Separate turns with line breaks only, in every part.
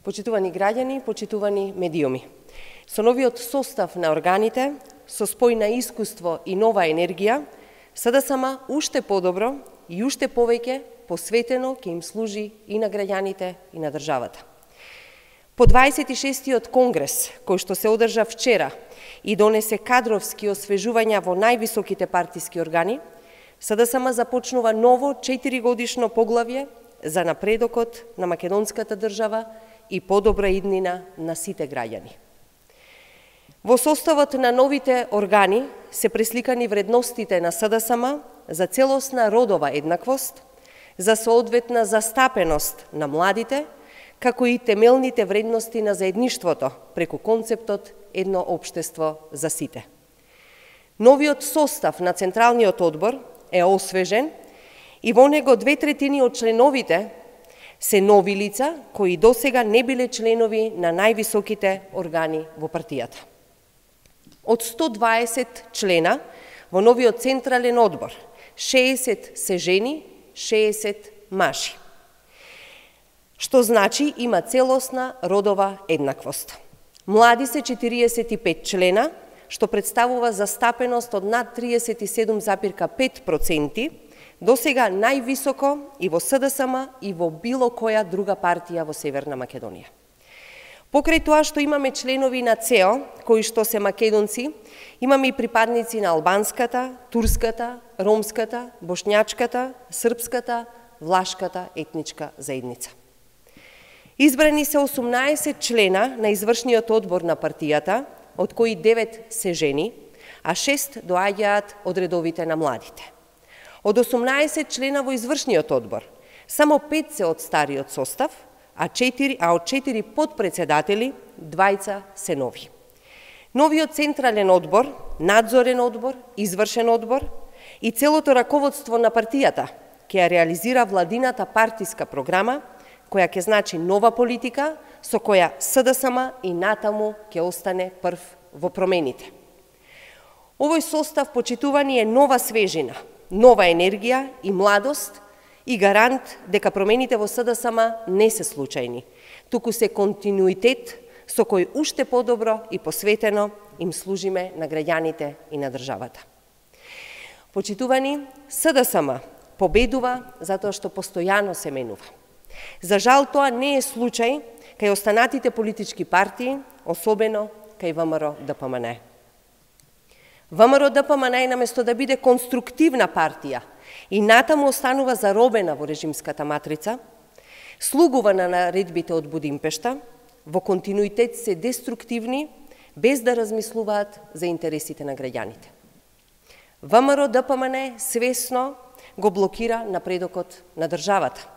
Почитувани граѓани, почитувани медиуми. Со новиот состав на органите, со спој на искуство и нова енергија, СДСМ уште подобро и уште повеќе посветено ќе им служи и на граѓаните и на државата. По 26-тиот конгрес, кој што се одржа вчера и донесе кадровски освежувања во највисоките партиски органи, СДСМ започнува ново 4-годишно поглавје за напредокот на македонската држава и подобра иднина на сите граѓани. Во составот на новите органи се пресликани вредностите на СДСМ за целосна родова еднаквост, за соодветна застапеност на младите, како и темелните вредности на заедништвото преку концептот едно општество за сите. Новиот состав на Централниот одбор е освежен и во него 2/3 од членовите се нови лица кои досега не биле членови на највисоките органи во партијата. Од 120 члена во новиот Централен одбор, 60 се жени, 60 мажи. Што значи има целосна родова еднаквост. Млади се 45 члена, што представува застапеност од над 37,5%, досега највисоко и во СДСМ и во било која друга партија во Северна Македонија. Покрај тоа што имаме членови на ЦЕО, кои што се македонци, имаме и припадници на албанската, турската, ромската, бошњачката, српската, влашката етничка заедница. Избрани се 18 члена на извршниот одбор на партијата, од кои 9 се жени, а 6 доаѓаат од редовите на младите. Од 18 члена во извршниот одбор, само 5 се од стариот состав, а од 4 подпредседатели, 2 се нови. Новиот Централен одбор, надзорен одбор, извршен одбор и целото раководство на партијата ќе ја реализира владината партиска програма, која ќе значи нова политика, со која СДСМ и натаму ќе остане прв во промените. Овој состав, почитувани, е нова свежина, нова енергија и младост и гарант дека промените во СДСМ не се случајни, туку се континуитет со кој уште подобро и посветено им служиме на граѓаните и на државата. Почитувани, СДСМ победува затоа што постојано се менува. За жал, тоа не е случај кај останатите политички партии, особено кај ВМРО-ДПМН. ВМРО-ДПМН наместо да биде конструктивна партија и натаму останува заробена во режимската матрица, слугува на наредбите од Будимпешта, во континуитет се деструктивни, без да размислуваат за интересите на граѓаните. ВМРО-ДПМН свесно го блокира напредокот на државата.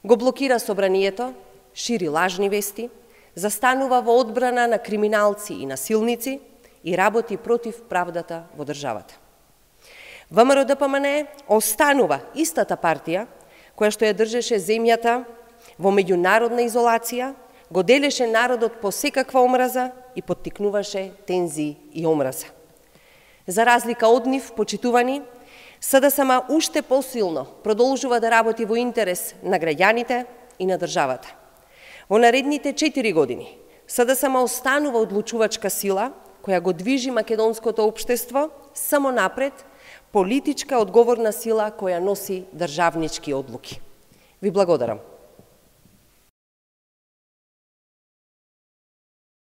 Го блокира собранието, шири лажни вести, застанува во одбрана на криминалци и насилници и работи против правдата во државата. ВМРО-ДПМН останува истата партија која што ја држеше земјата во меѓународна изолација, го делеше народот по секаква омраза и поттикнуваше тензии и омраза. За разлика од нив, почитувани, СДСМ уште посилно продолжува да работи во интерес на граѓаните и на државата. Во наредните 4 години СДСМ останува одлучувачка сила која го движи македонското општество само напред, политичка одговорна сила која носи државнички одлуки. Ви благодарам.